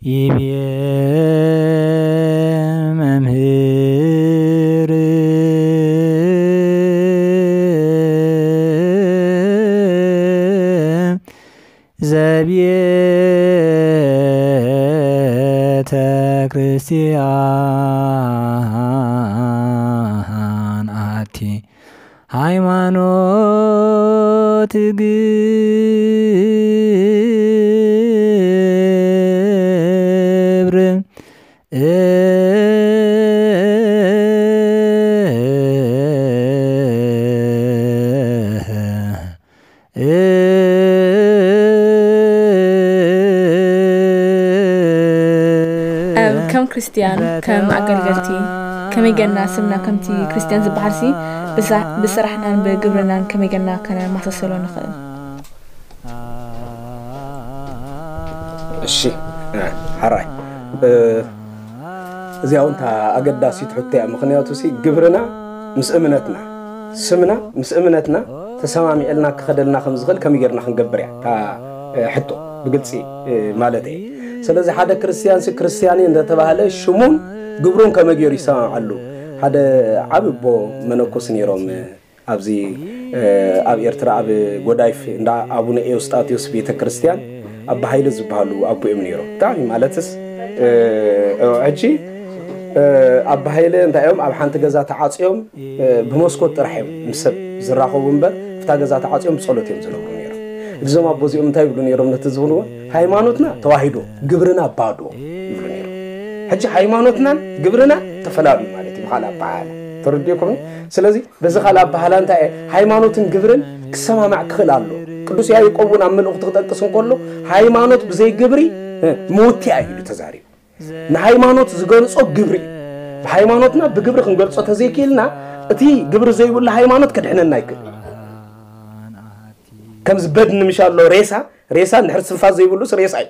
ይቤ መምህር ዘቤተክርስቲያን ኣቲ ሃይማኖት ግብር ከም ክርስትያን ከም ኣገልገልቲ ከመይ ገና ስምና ከምቲ ክርስትያን ዝበሃል ሲ ብስራሕናን ብግብርናን ከመይ ገና ከነመሳሰሎ ንኽእል? እሺ ሓራይ እዚኣ እውን እታ ኣገዳሲት ሕቶ እያ። ምክንያቱ ሲ ግብርና ምስ እምነትና ስምና ምስ እምነትና ተሰማሚዕልና ክኸደልና ከም ዝኽእል ከመይ ጌርና ክንገብር እያ እታ ሕቶ ብግልፂ ማለት እየ። ስለዚ ሓደ ክርስትያን ሲ ክርስትያን እየ እንደተባህለ ሽሙን ግብሩን ከመይ ገይሩ ይሰማምዓሉ? ሓደ ዓቢ ኣቦ መነኮስ ነይሮም ኣብዚ ኣብ ኤርትራ ኣብ ጎዳይፍ እንዳ ኣቡነ ኤውስጣቴዎስ ቤተ ክርስቲያን ኣባ ሃይለ ዝበሃሉ ኣቦ እዮም ነይሮም። ብጣዕሚ ማለትስ ሕጂ ኣባ ሃይለ እንታይ እዮም ኣብ ሓንቲ ገዛ ተዓፅዮም ብመስኮት ጥራሕ እዮም ምስ ሰብ ዝራኸቡ እምበር እታ ገዛ ተዓፅዮም ብፀሎት እዮም ዝነብሩ ነይሮም። እዞም ኣቦ እዚኦም እንታይ ይብሉ ነይሮም ነቲ ዝብልዎ ሃይማኖትና ተዋሂዶ ግብርና ባዶ ይብሉ ነይሮም። ሕጂ ሃይማኖትናን ግብርናን ተፈላለዩ ማለት እዩ ብካልእ ኣበሃህላ ተረዲእኩም። ስለዚ በዚ ካልእ ኣበሃህላ እንታይ ሃይማኖትን ግብርን ክሰማማዕ ክኽእል ኣሎ። ቅዱስ ያዕቆብ እውን ኣብ መልእኽቱ ክጠቅስ እንከሎ ሃይማኖት ብዘይ ግብሪ ምውትያ እዩ ኢሉ ተዛሪቡ። ንሃይማኖት ዝገልጾ ግብሪ እዩ። ብሃይማኖትና ብግብሪ ክንገልጾ ተዘይክኢልና እቲ ግብሪ ዘይብሉ ሃይማኖት ከድሕነና ኣይክእል። ከምዚ በድኒ ምሽ ኣሎ ሬሳ ሬሳ እንድሕር ትንፋስ ዘይብሉስ ሬሳ እዩ።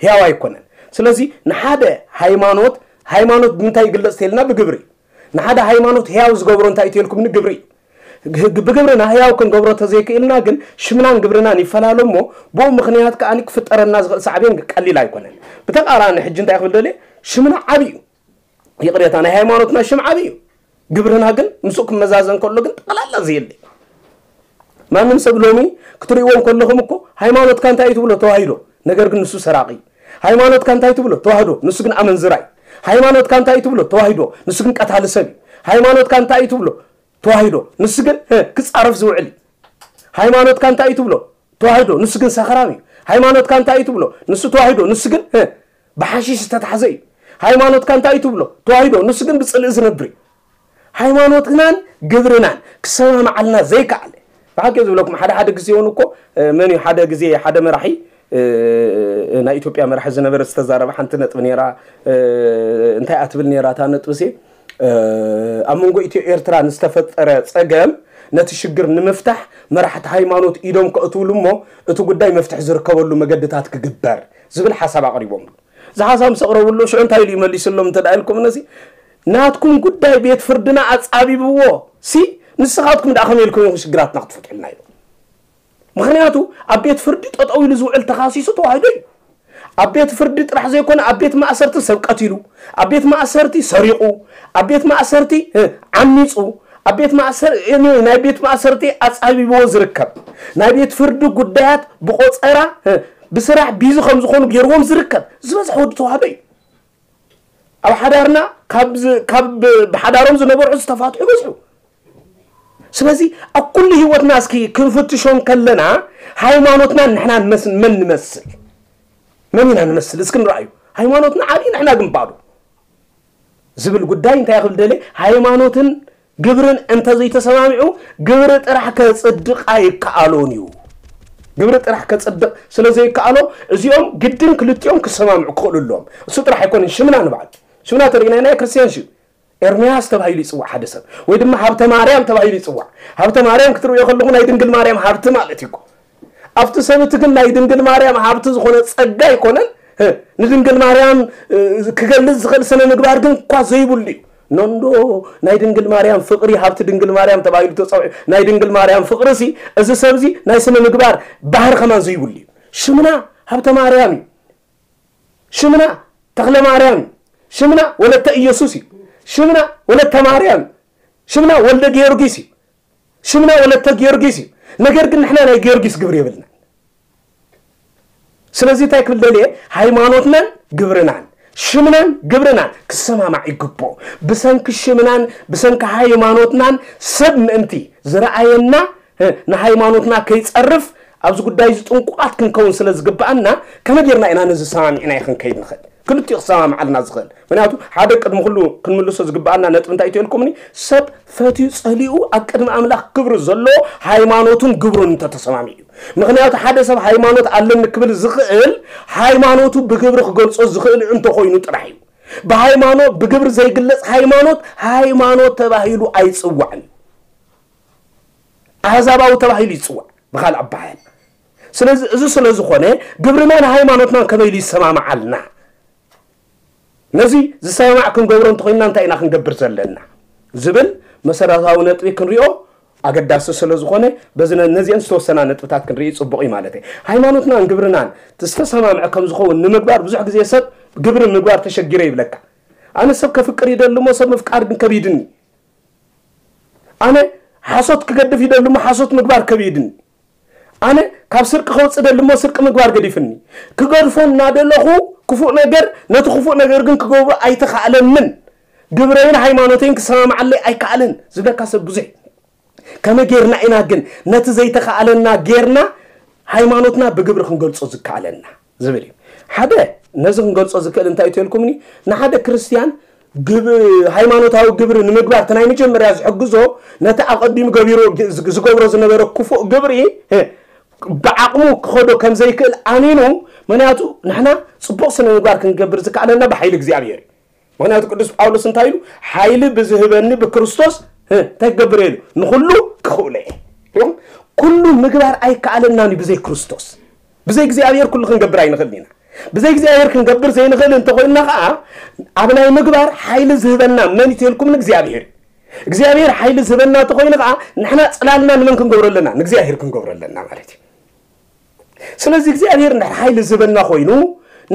ህያው ኣይኮነን። ስለዚ ንሓደ ሃይማኖት ሃይማኖት ብምንታይ ይግለጽ ተልና ብግብሪ ንሓደ ሃይማኖት ህያው ዝገብሮ እንታይ እዩ ተልኩምኒ ግብሪ እዩ። ብግብርና ህያው ክንገብሮ ተዘይክእልና ግን ሽምናን ግብርናን ይፈላለ እሞ ብኡ ምኽንያት ከኣ ክፍጠረና ዝኽእል ሳዕቤን ቀሊል ኣይኮነን። ብተቃራኒ ሕጂ እንታይ ክብል ደልየ ሽምና ዓቢ እዩ። ይቕሬታ ናይ ሃይማኖትና ሽም ዓቢ እዩ። ግብርና ግን ምስኡ ክመዛዘን ከሎ ግን ጠቕላላ ዘየለ ማንም ሰብ ሎሚ ክትርእይዎ እንከለኹም እኮ ሃይማኖትካ እንታይ እዩ ትብሎ ተዋሂዶ ነገር ግን ንሱ ሰራቒ ሃይማኖትካ እንታይ ትብሎ ተዋህዶ ንሱ ግን ኣመንዝራ እዩ ሃይማኖትካ እንታይ ትብሎ ተዋሂዶ ንሱ ግን ቀታሊ ሰብ እዩ ሃይማኖትካ እንታይ ትብሎ ተዋሂዶ ንሱ ግን ክጻረፍ ዝውዕል እዩ ሃይማኖትካ እንታይ ትብሎ ተዋሂዶ ንሱ ግን ሰኽራም እዩ ሃይማኖትካ እንታይ ትብሎ ንሱ ተዋሂዶ ንሱ ግን ብሓሺሽ ዝተታሕዘ እዩ ሃይማኖትካ እንታይ ትብሎ ተዋሂዶ ንሱ ግን ብጽልኢ ዝነብር እዩ ሃይማኖትናን ግብርናን ክሰማማዓልና ዘይከኣለ ብሓቂ ዝብለኩም ሓደ ሓደ ግዜ እውን እኮ መን እዩ ሓደ ግዜ ሓደ መራሒ ናይ ኢትዮጵያ መራሒ ዝነበረ ዝተዛረበ ሓንቲ ነጥቢ ነራ እንታይ ኣትብል ነራ እታ ነጥቢ ሲ ኣብ መንጎ ኢትዮ ኤርትራ ንዝተፈጠረ ጸገም ነቲ ሽግር ንምፍታሕ መራሕቲ ሃይማኖት ኢዶም ከእትውሉ እሞ እቲ ጉዳይ መፍትሒ ዝርከበሉ መገድታት ክግበር ዝብል ሓሳብ ኣቕሪቦም ዝሓሳብ ምስ ኣቕረብሉ ሽዑ እንታይ ኢሉ ይመሊስሎም እንተ ደኣ ኢልኩም ነዚ ናትኩም ጉዳይ ቤት ፍርድና ኣጻቢብዎ ሲ ንስኻትኩም ደኣ ከመይ ኢልኩም ኢኹም ሽግራትና ክትፈትሑልና ኢሉ ምኽንያቱ ኣብ ቤት ፍርዲ ጠጠው ኢሉ ዝውዕል ተኻሲሱ ተዋሂዶ እዩ ኣብ ቤት ፍርዲ ጥራሕ ዘይኮነ ኣብ ቤት ማእሰርቲ ሰብ ቀቲሉ ኣብ ቤት ማእሰርቲ ሰሪቑ ኣብ ቤት ማእሰርቲ ዓሚፁ ኣብ ቤት ማእሰር ናይ ቤት ማእሰርቲ ኣጻቢብዎ ዝርከብ ናይ ቤት ፍርዲ ጉዳያት ብቆፀራ ብስራሕ ቢዚ ከም ዝኾኑ ገይርዎም ዝርከብ ዝበዝሐ ወዲ ተዋህዶ እዩ ኣብ ሓዳርና ካብ ብሓዳሮም ዝነበርዑ ዝተፋትሑ ይበዝሑ ስለዚ ኣብ ኩሉ ህይወትና እስኪ ክንፍትሾ ከለና ሃይማኖትና ንሕና መን ንመስል መን ኢና ንመስል እስኪ ንረኣዩ ሃይማኖትና ዓብዪ ንሕና ግን ባዶ ዝብል ጉዳይ እንታይ ክብል ደለ ሃይማኖትን ግብርን እንተዘይተሰማሚዑ ግብሪ ጥራሕ ከፅድቕ ኣይከኣሎን እዩ ግብሪ ጥራሕ ከፅድቕ ስለዘይከኣሎ እዚኦም ግድን ክልቲኦም ክሰማምዑ ክኽእሉ ኣለዎም እሱ ጥራሕ ኣይኮነን ሽምና ንበዓል ሽምና ተሪእና ናይ ክርስትያን ሽም ኤርምያስ ተባሂሉ ይፅዋዕ ሓደ ሰብ ወይ ድማ ሃብተ ማርያም ተባሂሉ ይፅዋዕ ሃብተ ማርያም ክትርእዮ ከለኹ ናይ ድንግል ማርያም ሃብቲ ማለት እዩ ኣብቲ ሰብ እቲ ግን ናይ ድንግል ማርያም ሃብቲ ዝኾነ ጸጋ ኣይኮነን ንድንግል ማርያም ክገልጽ ዝኽእል ስነ ምግባር ግን እኳ ዘይብሉ እዩ ኖንዶ ናይ ድንግል ማርያም ፍቕሪ ሃብቲ ድንግል ማርያም ተባሂሉ ተጸውዒ ናይ ድንግል ማርያም ፍቕሪ ሲ እዚ ሰብ እዚ ናይ ስነ ምግባር ባህሪ ከማን ዘይብሉ እዩ ሽምና ሃብተ ማርያም እዩ ሽምና ተኽለ ማርያም እዩ። ሽምና ወለተ ኢየሱስ እዩ። ሽምና ወለተ ማርያም፣ ሽምና ወልደ ጊዮርጊስ እዩ። ሽምና ወለተ ጊዮርጊስ እዩ። ነገር ግን ንሕና ናይ ጊዮርጊስ ግብሪ የብልናን። ስለዚ እንታይ ክብል ደልየ፣ ሃይማኖትናን ግብርናን፣ ሽምናን ግብርናን ክሰማማዕ ይግብኦ። ብሰንኪ ሽምናን ብሰንኪ ሃይማኖትናን ሰብ ምእንቲ ዝረኣየና፣ እ፣ ንሃይማኖትና ከይጸርፍ ኣብዚ ጉዳይ እዚ ጥንቁቓት ክንከውን ስለ ዝግብኣና፣ ከመይ ጌርና ኢና ነዚ ሰማሚዕና ይኽንከይድ ንኽእል? ክልቲኡ ክሰማምዓልና ዝኽእል። ምክንያቱ ሓደ ቅድሚ ኩሉ ክንምልሶ ዝግብኣና ነጥቢ እንታይ ትልኩምኒ? ሰብ ፈትዩ ጸሊኡ ኣብ ቅድሚ ኣምላኽ ክብሪ ዘለዎ ሃይማኖቱን ግብሩን እንተተሰማሚዑ እዩ። ምክንያቱ ሓደ ሰብ ሃይማኖት ኣለኒ ክብል ዝኽእል ሃይማኖቱ ብግብሪ ክገልጾ ዝኽእል እንተኾይኑ ጥራሕ እዩ። ብሃይማኖት፣ ብግብሪ ዘይግለጽ ሃይማኖት፣ ሃይማኖት ተባሂሉ ኣይጽዋዕን። ኣህዛባዊ ተባሂሉ ይጽዋዕ ብኻልእ ኣባሃል። ስለዚ እዚ ስለ ዝኾነ ግብርና ንሃይማኖትና ከመይ ኢሉ ይሰማምዓልና? ነዚ ዝሰማማዕ ክንገብሮ እንተኾይንና እንታይ ኢና ክንገብር ዘለና? ዝብል መሰረታዊ ነጥቢ ክንሪኦ ኣገዳሲ ስለ ዝኾነ በዚ ነ-፣ ነዚአን ዝተወሰና ነጥብታት ክንርኢ ጽቡቕ እዩ ማለት እዩ። ሃይማኖትናን ግብርናን ዝተሰማምዐ ከም ዝኸውን ንምግባር ብዙሕ ግዜ ሰብ ግብሪ ምግባር ተሸጊረ ይብለካ። ኣነ ሰብ ከፍቅር ይደሊ እሞ ሰብ ምፍቃር ግን ከቢድኒ። ኣነ ሓሶት ክገድፍ ይደሊ እሞ ሓሶት ምግባር ከቢድኒ። ኣነ ካብ ስርቂ ከውፅእ ደሊ እሞ ስርቂ ምግባር ገዲፍኒ። ክገድፎ እናደለኹ ክፉእ ነገር፣ ነቲ ክፉእ ነገር ግን ክገብሮ ኣይተኻእለንን። ግብረይን ሃይማኖተይን ክሰማማዓለይ ኣይከኣለን ዝብለካ ሰብ ብዙሕ። ከመይ ጌርና ኢና ግን ነቲ ዘይተኻእለና ጌርና ሃይማኖትና ብግብሪ ክንገልጾ ዝከኣለና ዝብል እዩ። ሓደ ነዚ ክንገልጾ ዝክእል እንታይ እዩ ተልኩምኒ? ንሓደ ክርስትያን ግብ-፣ ሃይማኖታዊ ግብሪ ንምግባር እቲ ናይ መጀመርያ ዝሕግዞ ነቲ ኣቐዲሙ ገቢሩ ዝ-፣ ዝገብሮ ዝነበረ ክፉእ ግብሪ፣ እ፣ ብዓቕሙ ክኸዶ ከም ዘይክእል ኣሚኑ፣ ምክንያቱ ንሕና ጽቡቕ ስነ ምግባር ክንገብር ዝከኣለና ብሓይሊ እግዚኣብሔር እዩ። ምክንያቱ ቅዱስ ጳውሎስ እንታይ ኢሉ? "ሓይሊ ብዝህበኒ ብክርስቶስ፣ እ፣ እንታይ ክገብር እየ?" ኢሉ፣ "ንኹሉ ክኽእሎ እየ." ሪኹም? ኩሉ ምግባር ኣይከኣለናን እዩ ብዘይ ክርስቶስ። ብዘይ እግዚኣብሔር ኩሉ ክንገብር ኣይንኽእልን ኢና። ብዘይ እግዚኣብሔር ክንገብር ዘይንኽእል እንተኾይንና ኸዓ፣ ኣብ ናይ ምግባር ሓይሊ ዝህበና መን እዩ ተልኩም? እግዚኣብሔር እዩ። እግዚኣብሔር ሓይሊ ዝህበና እንተኾይኑ ኸዓ፣ ንሕና ጽላልና ንመን ክንገብሮ ኣለና? ንእግዚኣብሔር ክንገብሮ ኣለና ማለት እዩ። ስለዚ እግዚኣብሔር እንድሕር ሓይሊ ዝህበና ኮይኑ፣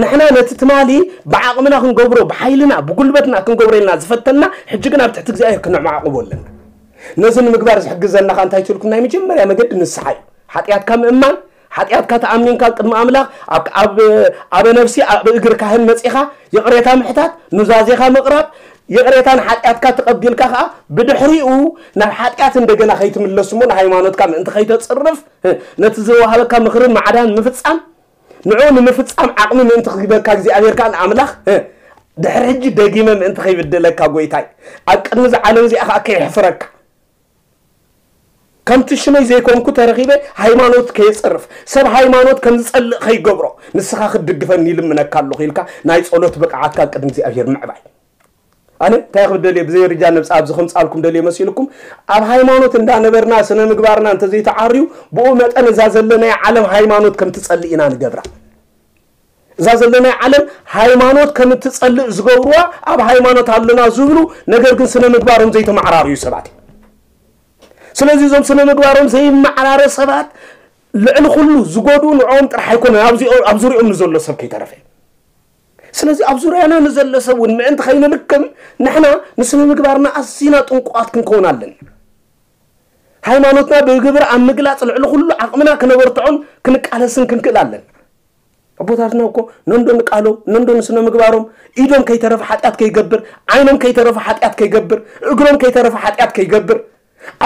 ንሕና ነቲ ትማሊ ብዓቕምና ክንገብሮ፣ ብሓይልና፣ ብጉልበትና ክንገብሮ ኢልና ዝፈተና፣ ሕጂ ግን ኣብ ትሕቲ እግዚኣብሔር ክነዕማዕቕቦ ኣለና። ነዚ ንምግባር ዝሕግዘና ኸዓ እንታይ ትልኩም? ናይ መጀመርያ መገዲ ንስሓ እዩ። ሓጢኣትካ ምእማን፣ ሓጢኣትካ ተኣሚንካ ቅድሚ ኣምላኽ ኣብ፣ ኣብ፣ ኣበ ነፍሲ ኣብ እግሪ ካህን መጺኻ ይቕሬታ ምሕታት፣ ኑዛዜኻ ምቕራብ፣ ይቕሬታን ሓጢኣትካ ተቐቢልካ ኸዓ ብድሕሪኡ ናብ ሓጢኣት እንደገና ከይትምለስ እሞ ንሃይማኖትካ ምእንቲ ከይተጽርፍ፣ ነቲ ዝወሃበካ ምኽርን ማዕዳን ምፍጻም፣ ንዕኡ ንምፍጻም ዓቕሚ ምእንቲ ክህበካ እግዚኣብሔር ከኣ ንኣምላኽ፣ ድሕሪ ሕጂ ደጊመ ምእንቲ ከይብድለካ ጐይታይ፣ ኣብ ቅድሚ እዛ ዓለም እዚኣ ከኣ ከየሕፍረካ። ከምቲ ሽመይ ዘይኮንኩ ተረኺበ ሃይማኖት ከየጽርፍ፣ ሰብ ሃይማኖት ከም ዝጸልእ ከይገብሮ፣ ንስኻ ክትድግፈኒ ይልምነካ ኣለኹ ኢልካ ናይ ጸሎት ብቕዓትካ ቅድሚ እግዚኣብሔር ምዕባይ። ኣነ እንታይ ክብል ደልየ፣ ብዘይ ርጃ ነብጻ ኣብዚ ከምጻልኩም ደልየ መሲልኩም፣ ኣብ ሃይማኖት እንዳነበርና ስነ ምግባርና እንተዘይተዓርዩ፣ ብኡ መጠን እዛ ዘለናያ ዓለም ሃይማኖት ከም ትጸልእ ኢና ንገብራ። እዛ ዘለናያ ዓለም ሃይማኖት ከም እትጸልእ ዝገብርዋ፣ ኣብ ሃይማኖት ኣለና ዝብሉ፣ ነገር ግን ስነ ምግባሮም ዘይተመዓራርዩ ሰባት እዮም። ስለዚ እዞም ስነ ምግባሮም ዘይመዓራረ ሰባት ልዕሊ ኩሉ ዝጎድኡ ንዕኦም ጥራሕ ኣይኮነን፣ ኣብዚ፣ ኣብ ዙርያኦም ንዘሎ ሰብ ከይተረፈ። ስለዚ ኣብ ዙርያና ንዘሎ ሰብ እውን ምእንቲ ከይንልክም ንሕና ንስነ ምግባርና ኣዚና ጥንቁቓት ክንከውን ኣለና። ሃይማኖትና ብግብሪ ኣብ ምግላጽ ልዕሊ ኩሉ ዓቕምና ክነበርትዖን ክንቃለስን ክንክእል ኣለና። ኣቦታትና እኮ ነንዶ ንቃሎም፣ ነንዶ ንስነ ምግባሮም፣ ኢዶም ከይተረፈ ሓጢኣት ከይገብር፣ ዓይኖም ከይተረፈ ሓጢኣት ከይገብር፣ እግሮም ከይተረፈ ሓጢኣት ከይገብር፣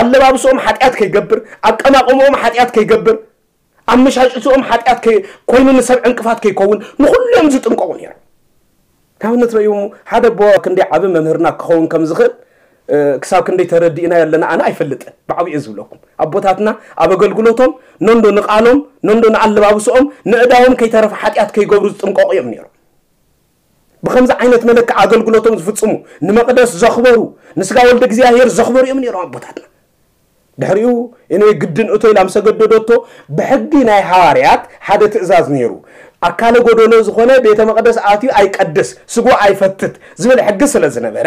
ኣለባብስኦም ሓጢኣት ከይገብር፣ ኣቀማቕምኦም ሓጢኣት ከይገብር፣ ኣመሻጭትኦም ሓጢኣት ከይ-፣ ኮይኑ ንሰብ ዕንቅፋት ከይከውን፣ ንኹሉ እዮም ዝጥንቀቑ ነይሮም። ንኣብነት ረእዩ ሓደ ኣቦ ክንደይ ዓቢ መምህርና ክኸውን ከም ዝኽእል፣ እ፣ ክሳብ ክንደይ ተረዲእናዮ ኣለና ኣነ ኣይፈልጥን። ብዓብኡ እየ ዝብለኩም። ኣቦታትና ኣብ ኣገልግሎቶም ነንዶ ንቃሎም፣ ነንዶ ንኣለባብስኦም፣ ንእዳዎም ከይተረፈ ሓጢኣት ከይገብሩ ዝጥንቀቑ እዮም ነይሮም። ብኸምዚ ዓይነት መለክዕ ኣገልግሎቶም ዝፍጽሙ፣ ንመቕደስ ዘኽበሩ፣ ንስጋ ወልደ እግዚኣብሔር ዘኽበሩ እዮም ነይሮም ኣቦታትና። ድሕሪኡ፣ ኤንወይ ግድን እቶ ኢላ ምስ ኣገደደቶ፣ ብሕጊ ናይ ሃዋርያት ሓደ ትእዛዝ ነይሩ። ኣካለ ጎደሎ ዝኾነ ቤተ መቕደስ ኣትዩ ኣይቀድስ፣ ስግኡ ኣይፈትት ዝብል ሕጊ ስለ ዝነበረ፣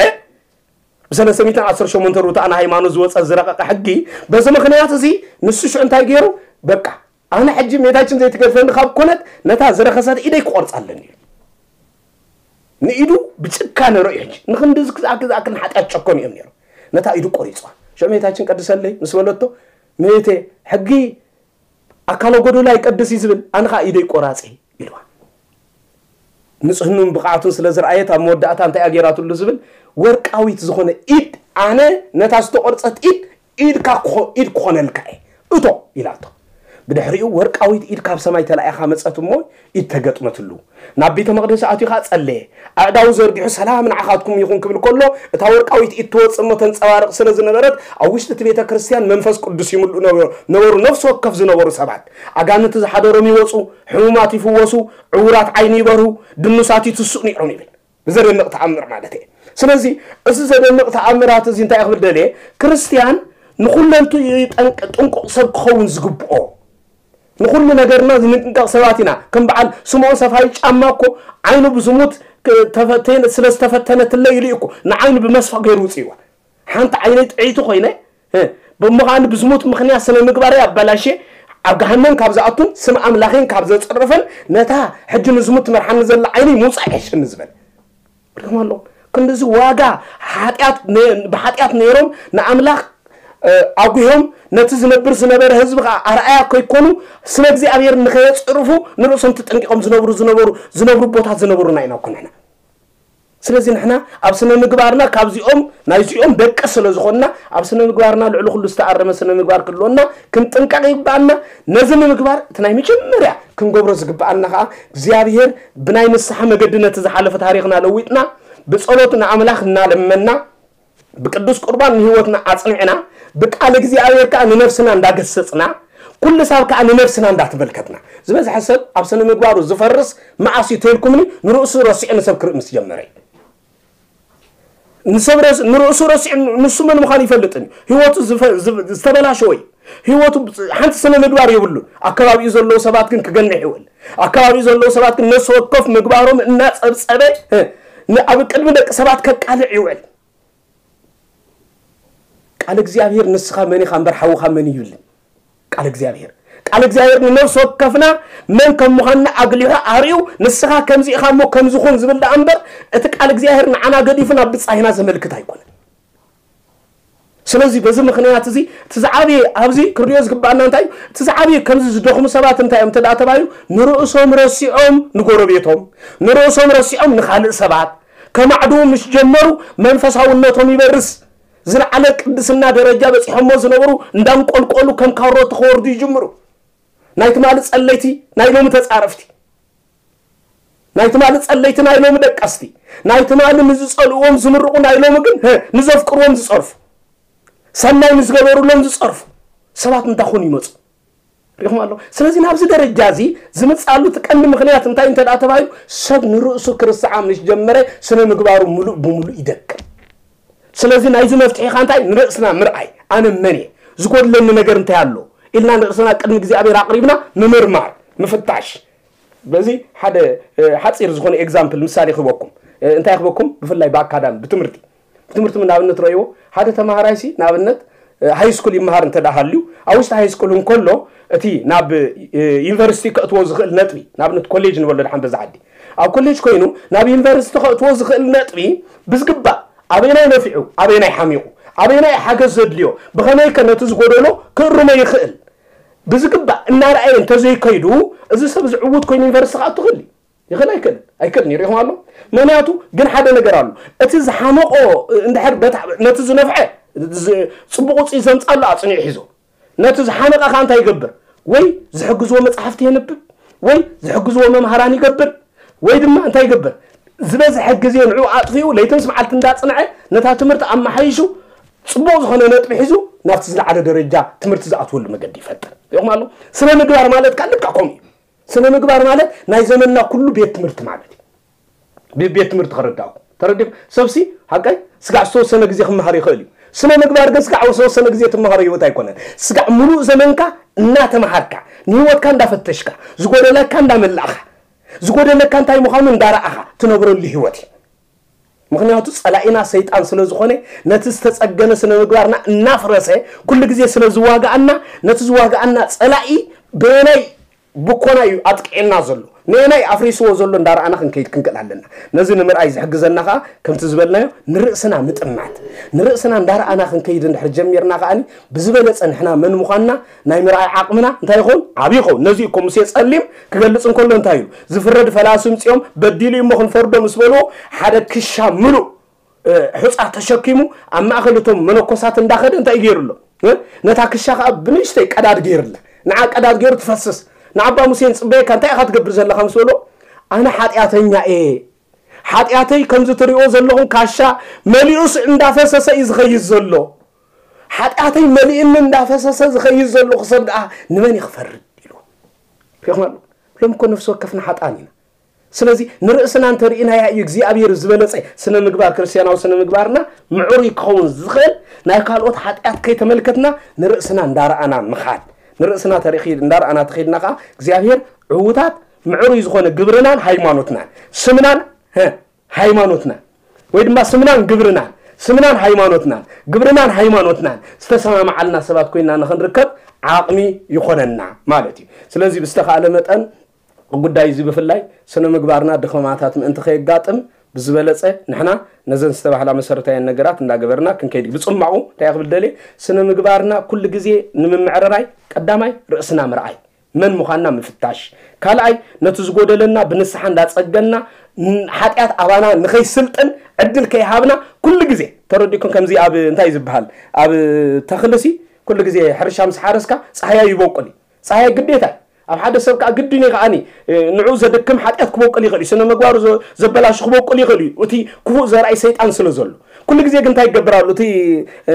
ብሰለስተ ሚእትን ዓሰርተ ሸሞንተ ርቱዓን ሃይማኖት ዝወጸ ዝረቐቐ ሕጊ፣ በዚ ምኽንያት እዚ ንሱ ሽዑ እንታይ ገይሩ? በቃ፣ ኣነ ሕጂ እመቤታችን ዘይትገድፈኒ ካብ ኮነት፣ ነታ ዝረኸሰት ኢደይ ክቖርጻ ኣለኒ ኢሉ። ንኢዱ ብጭካነ ረእዩ። ሕጂ ንክንድዚ ክዝኣክል ዝኣክል ንሓጢኣት ጨከኑ እዮም ነይሮም። ነታ ኢዱ ቆሪፅዋ። ሽዑ እመቤታችን ቀድሰለይ ምስ በለቶ፣ እመቤቴ፣ ሕጊ ኣካለ ጎዶሎ ኣይቀድስ እዩ ዝብል፣ ኣነ ከዓ ኢደይ ቆራፂ ኢልዋ። ንፅህኑን ብቕዓቱን ስለ ዝረኣየት ኣብ መወዳእታ እንታይ ኣገይራትሉ ዝብል፣ ወርቃዊት ዝኾነ ኢድ፣ ኣነ ነታ ዝተቆርፀት ኢድ ኢድካ ክኾ- ኢድ ክኾነልካ እየ እቶ ኢላቶ። ብድሕሪኡ ወርቃዊት ኢድ ካብ ሰማይ ተላኢኻ መፀት እሞ ኢድ ተገጥመትሉ። ናብ ቤተ መቕደስ ኣትዩ ኸዓ ጸለየ። ኣእዳዉ ዘርጊሑ ሰላም ንዓኻትኩም ይኹን ክብል ከሎ እታ ወርቃዊት ኢድ ትወፅእ እሞ ተንጸባርቕ ስለ ዝነበረት ኣብ ውሽጢ እቲ ቤተ ክርስቲያን መንፈስ ቅዱስ ይምልኡ ነበሩ። ነበሩ ነፍሲ ወከፍ ዝነበሩ ሰባት ኣጋንንቲ ዝሓደሮም ይወፁ፣ ሕሙማት ይፍወሱ፣ ዕውራት ዓይኒ ይበርሁ፣ ድኑሳት ይትስኡ ነይሮም ይብል። ብዘደንቕ ተኣምር ማለት እየ። ስለዚ እዚ ዘደንቕ ተኣምራት እዚ እንታይ ክብል ደልየ? ክርስትያን ንኹለንቱ ጠንቅ- ጥንቁቕ ሰብ ክኸውን ዝግብኦ፣ ንኹሉ ነገርና ዝንጥንቀቕ ሰባት ኢና። ከም በዓል ስምዖን ሰፋሪ ጫማ እኮ ዓይኑ ብዝሙት ክ- ተፈተነ- ስለ ዝተፈተነትለይ ኢሉ እዩ እኮ ንዓይኑ ብመስፈ ገይሩ ውፅእዋ። ሓንቲ ዓይነይ ጥዕይቲ ኮይነ እ፣ ብምዃኑ ብዝሙት ምኽንያት ስነ ምግባረይ ኣበላሸ ኣብ ገሃነም ካብ ዝኣቱን ስም ኣምላኸይን ካብ ዘፅርፍን ነታ ሕጂ ንዝሙት ትመርሓኒ ዘላ ዓይነይ ምውፃእ ይሕሸኒ ዝበል ሪኹም ኣለኹም። ክንድዚ ዋጋ ሓጢኣት ነ- ብሓጢኣት ነይሮም ንኣምላኽ እ፣ ኣጉሆም ነቲ ዝነብር ዝነበረ ህዝቢ ከዓ ኣርኣያ ከይኮኑ ስመ እግዚኣብሔር ንኸየፅርፉ ንርእሶም ተጠንቂቖም ዝነብሩ ዝነበሩ ዝነብሩ ቦታት ዝነብሩና ኢና እኮ ንሕና። ስለዚ ንሕና ኣብ ስነ ምግባርና ካብዚኦም ናይዚኦም ደቂ ስለ ዝኾንና ኣብ ስነ ምግባርና ልዕሊ ኩሉ ዝተኣረመ ስነ ምግባር ክህልወና ክንጥንቀቕ ይግባኣና። ነዚ ንምግባር እቲ ናይ መጀመርያ ክንገብሮ ዝግባኣና ከዓ እግዚኣብሔር ብናይ ንስሓ መገዲ ነቲ ዝሓለፈ ታሪኽና ለዊጥና ብጸሎት ንኣምላኽ እናለመና ብቅዱስ ቁርባን ንህይወትና ኣጽኒዕና ብቃል እግዚኣብሔር ከዓ ንነፍስና እንዳገሰጽና ኩሉ ሳብ ከዓ ንነፍስና እንዳተመልከትና ዝበዝሐ ሰብ ኣብ ስነ ምግባሩ ዝፈርስ መዓስ እዩ ተልኩምኒ ንርእሱ ረሲዑ ንሰብ ክርኢ ምስ ጀመረ እዩ። ንሰብ ረስ- ንርእሱ ረሲዑ ንሱ መን ምዃኑ ይፈልጥን እዩ። ህይወቱ ዝፈ- ዝብ- ዝተበላሸወ እዩ። ህይወቱ ሓንቲ ስነ ምግባር የብሉን። ኣከባቢኡ ዘለዉ ሰባት ግን ክገንሕ ይውዕል። ኣከባቢኡ ዘለዉ ሰባት ግን ነፍሲ ወከፍ ምግባሮም እናጸብጸበ እ፣ ን- ኣብ ቅድሚ ደቂ ሰባት ከቃልዕ ይውዕል። ቃል እግዚኣብሔር ንስኻ መን ኢኻ እምበር ሓውኻ መን እዩ ይብልን ቃል እግዚኣብሔር። ቃል እግዚኣብሔር ንነፍሲ ወከፍና መን ከም ምዃንና ኣግሊሑ ኣርእዩ ንስኻ ከምዚ ኢኻ እሞ ከምዚ ኹን ዝብል ደኣ እምበር እቲ ቃል እግዚኣብሔር ንዓና ገዲፉ ናብ ብጻይና ዘመልክት ኣይኮነን። ስለዚ በዚ ምኽንያት እዚ እቲ ዝዓበየ ኣብዚ ክርድዮ ዝግባኣና እንታይ እዩ? እቲ ዝዓበየ ከምዚ ዝደኽሙ ሰባት እንታይ እዮም እንተ ደኣ ተባሂሉ ንርእሶም ረሲዖም ንጎረቤቶም ንርእሶም ረሲዖም ንኻልእ ሰባት ከማዕድዉ ምስ ጀመሩ መንፈሳውነቶም ይበርስ። ዝለዓለ ቅድስና ደረጃ በጺሖሞ ዝነበሩ እንዳንቆልቆሉ ከም ካሮት ክወርዱ ይጅምሩ። ናይ ትማሊ ጸለይቲ ናይ ሎሚ ተጻረፍቲ፣ ናይ ትማሊ ጸለይቲ ናይ ሎሚ ደቀስቲ፣ ናይ ትማሊ ንዝጸልእዎም ዝምርቑ ናይ ሎሚ ግን ህ፣ ንዘፍቅርዎም ዝጸርፉ፣ ሰናይ ንዝገበሩሎም ዝጸርፉ ሰባት እንዳኾኑ ይመጹ። ሪኹም ኣሎ። ስለዚ ናብዚ ደረጃ እዚ ዝምጻሉ እቲ ቀንዲ ምኽንያት እንታይ እንተ ደኣ ተባሂሉ ሰብ ንርእሱ ክርስዓ ምስ ጀመረ ስነ ምግባሩ ሙሉእ ብሙሉእ ይደክም። ስለዚ ናይዚ መፍትሒ ካ እንታይ ንርእስና ምርኣይ ኣነ መን እየ ዝጎድለኒ ነገር እንታይ ኣሎ ኢልና ንርእስና ቅድሚ እግዚኣብሔር ኣቕሪብና ምምርማር ምፍታሽ። በዚ ሓደ እ፣ ሓፂር ዝኾነ ኤግዛምፕል ምሳሌ ክህበኩም እ፣ እንታይ ክህበኩም ብፍላይ ብኣካዳሚ ብትምህርቲ ትምህርቲ ምን ኣብነት ረእይዎ ሓደ ተማሃራይ ሲ ንኣብነት ሃይ ስኩል ይመሃር እንተ ደኣ ሃልዩ ኣብ ውሽጢ ሃይ ስኩል እንከሎ እቲ ናብ ዩኒቨርሲቲ ከእትዎ ዝኽእል ነጥቢ ንኣብነት ኮሌጅ ንበሎ ድሓን በዛ ዓዲ ኣብ ኮሌጅ ኮይኑ ናብ ዩኒቨርሲቲ ከእትዎ ዝኽእል ነጥቢ ብዝግባእ ኣበይናይ ነፊዑ ኣበይናይ ሓሚቑ ኣበይናይ ሓገዝ ዘድልዮ ብኸመይ ከ ነቲ ዝጎደሎ ክእርሞ ይኽእል ብዝግባእ እናረኣየ እንተዘይከይዱ እዚ ሰብ ዝዕውት ኮይኑ ዩኒቨርሲቲ ክኣቱ ክእል ይኽእል ኣይክእልን ኣይክእልን ይሪኢኹም ኣሎ ምክንያቱ ግን ሓደ ነገር ኣሎ እቲ ዝሓመቆ እንድሕር ነቲ ዝነፍዐ ፅቡቅ ውፅኢት ዘምፃሉ ኣፅኒዑ ሒዞ ነቲ ዝሓመቀ ከዓ እንታይ ይገብር ወይ ዝሕግዝዎ መፅሓፍቲ የንብብ ወይ ዝሕግዝዎ መምሃራን ይገብር ወይ ድማ እንታይ ይገብር ዝበዝሐ ግዜ ንዑ ኣጥፊኡ ለይትን ስምዓልቲ እንዳፅንዐ ነታ ትምህርቲ ኣመሓይሹ ፅቡቅ ዝኾነ ነጥቢ ሒዙ ናብቲ ዝለዓለ ደረጃ ትምህርቲ ዝኣትወሉ መገዲ ይፈጥር ይኹም ኣሎ ስነ ምግባር ማለት ከዓ ልካ ከምኡ እዩ ስነ ምግባር ማለት ናይ ዘመንና ኩሉ ቤት ትምህርቲ ማለት እዩ። ቤት ትምህርቲ ከረዳእኩ ተረዲኹ ሰብሲ ሓቀይ ስጋዕ ዝተወሰነ ግዜ ክመሃር ይኽእል እዩ። ስነ ምግባር ግን ስጋዕ ዝተወሰነ ግዜ ትመሃሮ ህይወት ኣይኮነን። ስጋዕ ሙሉእ ዘመንካ እናተመሃርካ ንህይወትካ እንዳፈተሽካ ዝጎደለካ እንዳመላእኻ ዝጎደለካ እንታይ ምዃኑ እንዳረኣኻ ትነብረሉ ህይወት እዩ። ምክንያቱ ጸላኢና ሰይጣን ስለ ዝኾነ ነቲ ዝተጸገነ ስነ ምግባርና እናፍረሰ ኩሉ ግዜ ስለ ዝዋጋኣና ነቲ ዝዋጋኣና ጸላኢ በየናይ ብኮና እዩ ኣጥቂዕና ዘሎ። ነየናይ ኣፍሪስዎ ዘሎ እንዳረኣና ክንከይድ ክንክእል ኣለና። ነዚ ንምርኣይ ዝሕግዘና ከዓ ከምቲ ዝበልናዮ ንርእስና ምጥማት። ንርእስና እንዳረኣና ክንከይድ እንድሕር ጀሚርና ከዓኒ ብዝበለጸ ንሕና መን ምዃንና ናይ ምርኣይ ዓቕምና እንታይ ይኸውን? ዓብዪ ይኸውን። ነዚ እኮ ሙሴ ጸሊም ክገልጽ እንከሎ እንታይ እዩ? ዝፍረድ ፈላሲ ምጽኦም በዲሉ እሞ ክንፈርዶ ምስ በልዎ ሓደ ክሻ ምሉእ እ፣ ሑጻ ተሸኪሙ ኣብ ማእከል እቶም መነኮሳት እንዳኸደ እንታይ ገይሩ ኣሎ? እ? ነታ ክሻ ከዓ ብንእሽተይ ቀዳድ ገይርላ። ንዓ ቀዳድ ገይሩ ትፈስስ። ንዓባ ሙሴን ጽበየካ እንታይ ኢኻ ትገብር ዘለኻ ምስ በሎ ኣነ ሓጢኣተኛ እየ። ሓጢኣተይ ከምዚ ትሪኦ ዘለኹም ካሻ መሊኡስ እንዳፈሰሰ እዩ ዝኸይድ ዘሎ። ሓጢኣተይ መሊእኒ እንዳፈሰሰ ዝኸይድ ዘለኹ ሰብ ደኣ ንመን እዩ ክፈርድ ኢሉ። ሪኹም ኣሎ። ሎም እኮ ነፍሲ ወከፍና ሓጣን ኢና። ስለዚ ንርእስና እንተርኢናያ እዩ እግዚኣብሔር ዝበለጸ ስነ ምግባር ክርስቲያናዊ ስነ ምግባርና ምዕሩይ ክኸውን ዝኽእል ናይ ካልኦት ሓጢኣት ከይተመልከትና ንርእስና እንዳረኣና ምኻድ ንርእስና ተሪኺ እንዳረኣና ተኺድና ከዓ እግዚኣብሔር ዕዉታት ምዕሩይ ዝኾነ ግብርናን ሃይማኖትናን ስምናን ሃይማኖትናን ወይ ድማ ስምናን ግብርናን ስምናን ሃይማኖትናን ግብርናን ሃይማኖትናን ዝተሰማማዓልና ሰባት ኮይና ንኽንርከብ ዓቕሚ ይኾነና ማለት እዩ። ስለዚ ብዝተኻእለ መጠን ጉዳይ እዚ ብፍላይ ስነ ምግባርና ድኸማታት ምእንቲ ከየጋጥም ብዝበለጸ ንሕና ነዘን ዝተባህላ መሰረታውያን ነገራት እንዳገበርና ክንከይድ ብጽማቑ እንታይ ክብል ደልየ ስነ ምግባርና ኩሉ ግዜ ንምምዕርራይ ቀዳማይ ርእስና ምርኣይ መን ምዃንና ምፍታሽ ካልኣይ ነቲ ዝጎደለና ብንስሓ እንዳጸገና ሓጢኣት ኣባና ንኸይስልጥን ዕድል ከይሃብና ኩሉ ግዜ ተረዲኩም ከምዚ ኣብ እንታይ ዝበሃል ኣብ ተኽልሲ ኩሉ ግዜ ሕርሻ ምስ ሓረስካ ፀሃያ ይበቁል እዩ ፀሃያ ግዴታ እዩ ኣብ ሓደ ሰብ ከዓ ግድን እዩ ከዓኒ ንዑ ዘድክም ሓጢኣት ክበቁል ይኽእል እዩ ስነ ምግባሩ ዘበላሹ ክበቁል ይኽእል እዩ እቲ ክፉእ ዘርኣይ ሰይጣን ስለ ዘሎ ኩሉ ግዜ ግን እንታይ ይገብር ኣሎ እቲ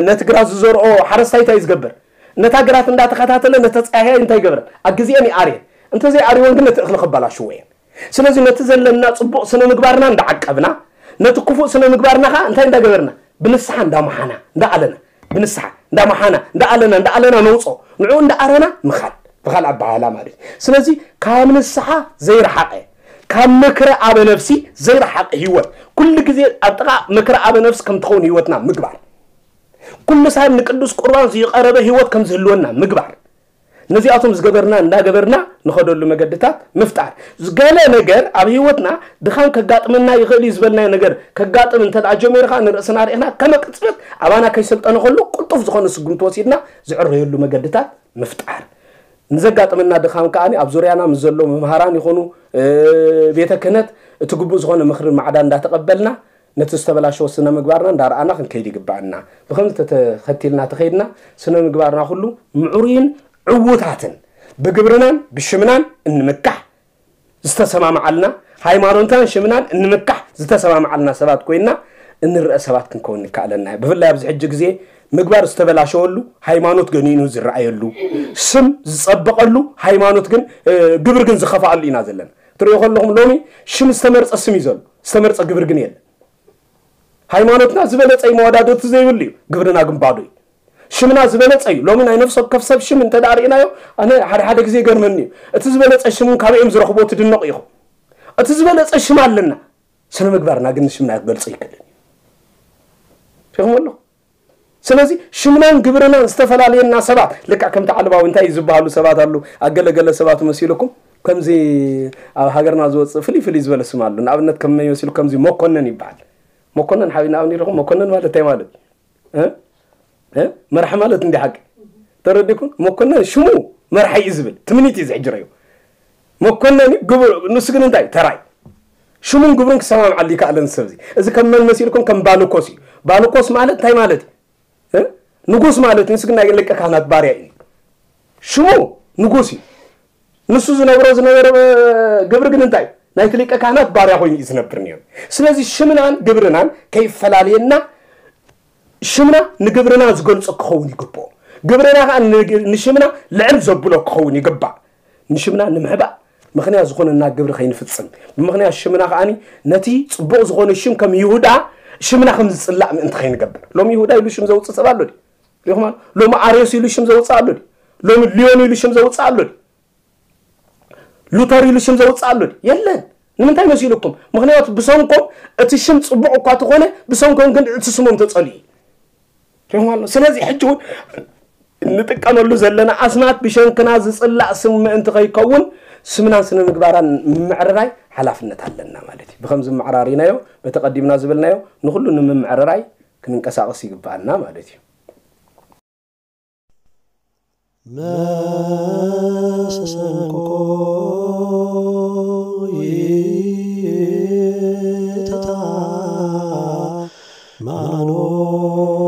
ነቲ ግራት ዝዘርኦ ሓረስታይ እንታይ ዝገብር ነታ ግራት እንዳተኸታተለ ነተፃህያ እንታይ ይገብረን ኣብ ግዜአን ይኣርየን እንተዘይኣርወን ግን ነቲ እኽሊ ከበላሽዎ እየን ስለዚ ነቲ ዘለና ፅቡቕ ስነ ምግባርና እንዳዓቀብና ነቲ ክፉእ ስነ ምግባርና ከዓ እንታይ እንዳገበርና ብንስሓ እንዳመሓና እንዳኣለና ብንስሓ እንዳመሓና እንዳኣለና እንዳኣለና ነውፅኦ ንዑ እንዳኣረና ምኻድ ብኻል ኣባሃላ ማለት እዩ ስለዚ ካብ ንስሓ ዘይረሓቐ ካብ ምክረ ኣበ ነፍሲ ዘይረሓቐ ህይወት ኩሉ ግዜ ኣብ ጥቓ ምክረ ኣበ ነፍሲ ከም ትኸውን ህይወትና ምግባር ኩሉ ሳብ ንቅዱስ ቁርባን ዝይቐረበ ህይወት ከም ዝህልወና ምግባር ነዚኣቶም ዝገበርና እንዳገበርና ንኸደሉ መገድታት ምፍጣር ገለ ነገር ኣብ ህይወትና ድኻም ከጋጥመና ይኽእል እዩ ዝበልናዮ ነገር ከጋጥም እንተ ደኣ ጀሚሩ ኸዓ ንርእስና ርኢኽና ከመ ቅጽበት ኣባና ከይሰልጠነ ከሎ ቅልጡፍ ዝኾነ ስጉምቲ ወሲድና ዝዕረየሉ መገድታት ምፍጣር ንዘጋጥመና ድኻም ከኣ ኣብ ዙርያና ምስ ዘሎ መምሃራን ይኹኑ ቤተ ክህነት እቲ ግቡእ ዝኾነ ምኽርን ማዕዳ እንዳተቐበልና ነቲ ዝተበላሸወ ስነ ምግባርና እንዳረኣና ክንከይድ ይግባኣና። ብኸምዚ ተተኸቲልና ተኸይድና ስነ ምግባርና ኩሉ ምዕሩይን ዕዉታትን ብግብርናን ብሽምናን እንምካሕ ዝተሰማማዓልና ሃይማኖትናን ሽምናን እንምካሕ ዝተሰማማዓልና ሰባት ኮይንና እንረአ ሰባት ክንከውን ንከኣለና እዩ። ብፍላይ ኣብዚ ሕጂ ግዜ ምግባር ዝተበላሸወሉ ሃይማኖት ገኒኑ ዝረኣየሉ ስም ዝጸበቐሉ ሃይማኖት ግን ግብር ግን ዝኸፍኣሉ ኢና ዘለና። ትሪኦ ከለኹም ሎሚ ሽም ዝተመርጸ ስም እዩ ዘሎ ዝተመርጸ ግብር ግን የለን። ሃይማኖትና ዝበለጸ እዩ መወዳድርቲ ዘይብሉ እዩ። ግብርና ግን ባዶ እዩ። ሽምና ዝበለጸ እዩ። ሎሚ ናይ ነፍሲ ወከፍ ሰብ ሽም እንተ ደኣ ርኢናዮ ኣነ ሓደ ሓደ ግዜ ይገርመኒ እዩ። እቲ ዝበለጸ ሽም እውን ካበይ እዮም ዝረኽብዎ ትድነቑ ኢኹም። እቲ ዝበለጸ ሽም ኣለና። ስነ ምግባርና ግን ንሽምና ክገልጾ ኣይክእልን እዩ። ሪኹም ኣለኹም። ስለዚ ሽምናን ግብርናን ዝተፈላለየና ሰባት ልክዕ ከምቲ ዓለባዊ እንታይ እዩ ዝበሃሉ ሰባት ኣሉ ኣገለገለ ሰባት መሲልኩም ከምዚ ኣብ ሃገርና ዝወፅእ ፍልይ ፍልይ ዝበለ ስም ኣሉ ንኣብነት ከም መን ይመስሉ ከምዚ መኮነን ይበሃል መኮነን ሓቢና ኣብ ኒርኹም መኮነን ማለት እንታይ ማለት መርሒ ማለት እንዲ ሓቂ ተረዲኩም መኮነን ሽሙ መርሒ እዩ ዝብል ትምኒት እዩ ዝሕጅረዩ መኮነን ግብር ንሱ ግን እንታይ ተራይ ሽሙን ግብሩን ክሰማምዓሉ ይከኣለን ሰብዚ እዚ ከም መን መሲልኩም ከም ባልኮስ እዩ ባልኮስ ማለት እንታይ ማለት እዩ ንጉስ ማለት ንሱ ግን ናይ ሊቀ ካህናት ባርያ እዩ ሽሙ ንጉስ እዩ ንሱ ዝነብሮ ዝነበረ ግብሪ ግን እንታይ ናይቲ ሊቀ ካህናት ባርያ ኮይኑ እዩ ዝነብር ነይሩ ስለዚ ሽምናን ግብርናን ከይፈላለየና ሽምና ንግብርና ዝገልጾ ክኸውን ይግብኦ ግብርና ከዓ ንሽምና ልዕል ዘብሎ ክኸውን ይግባእ ንሽምና ንምሕባእ ምኽንያት ዝኾነና ግብሪ ከይንፍጽም ብምኽንያት ሽምና ከዓኒ ነቲ ጽቡቕ ዝኾነ ሽም ከም ይሁዳ ሽምና ከም ዝጽላእ ምእንቲ ከይንገብር ሎም ይሁዳ ኢሉ ሽም ዘውፅእ ሰብ ኣሎ ሪኹም ሎም ኣርዮስ ኢሉ ሽም ዘውፅእ ኣሎ ሎም ሊዮን ኢሉ ሽም ዘውፅእ ኣሎ ሉተር ኢሉ ሽም ዘውፅእ ኣሎ የለን ንምንታይ መሲልኩም ምኽንያቱ ብሰንኮም እቲ ሽም ፅቡቕ እኳ ተኾነ ብሰንኮም ግን እቲ ስሞም ተፀልዩ ሪኹም ኣሎ ስለዚ ሕጂ እውን እንጥቀመሉ ዘለና ኣስማት ብሸንክና ዝፅላእ ስም ምእንቲ ከይከውን ስምናን ስነ ምግባራን ምምዕርራይ ሓላፍነት ኣለና ማለት እዩ። ብኸምዚ ምዕራሪናዮ፣ በተቐዲምና ዝበልናዮ ንኹሉ ንምምዕርራይ ክንንቀሳቐስ ይግብኣና ማለት እዩ። መሰንቆ ይትታ ማኖት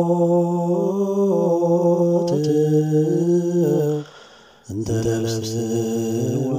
እንተ ለብስዋ